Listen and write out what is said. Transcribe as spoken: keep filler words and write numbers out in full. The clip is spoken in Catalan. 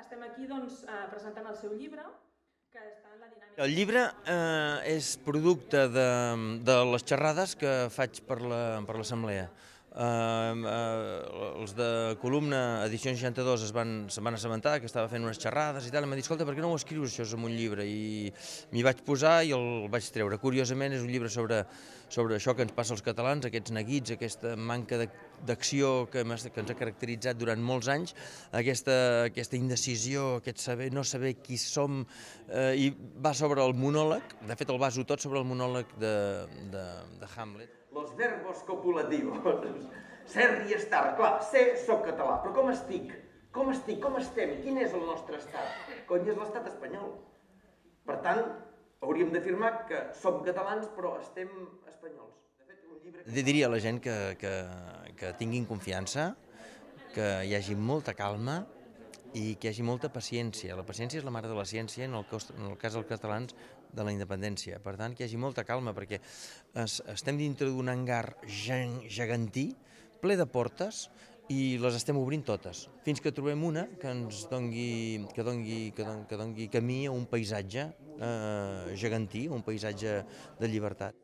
estem aquí doncs, presentant el seu llibre, que està en la dinàmica... El llibre eh, és producte de, de les xerrades que faig per l'assemblea. Uh, uh, els de Columna, edició seixanta-dos, es van, se van assabentar que estava fent unes xerrades i tal, i m'han dit, escolta, per què no ho escrius això en un llibre? I m'hi vaig posar i el vaig treure. Curiosament és un llibre sobre, sobre això que ens passa als catalans, aquests neguits, aquesta manca d'acció que, que ens ha caracteritzat durant molts anys, aquesta, aquesta indecisió, aquest saber, no saber qui som, eh, i va sobre el monòleg, de fet el baso tot sobre el monòleg de, de, de Hamlet. Los verbos copulativos. Ser i estar. Clar, ser, soc català, però com estic? Com estic? Com estem? Quin és el nostre estat? Cony, és l'estat espanyol. Per tant, hauríem d'afirmar que som catalans, però estem espanyols. De fet, un llibre... Que... Diria a la gent que, que, que tinguin confiança, que hi hagi molta calma i que hi hagi molta paciència. La paciència és la mare de la ciència, en el, cas, en el cas dels catalans, de la independència. Per tant, que hi hagi molta calma, perquè es, estem dintre d'un hangar gegantí, ple de portes, i les estem obrint totes, fins que trobem una que ens dongui, que dongui, que dongui, que dongui camí a un paisatge eh, gegantí, un paisatge de llibertat.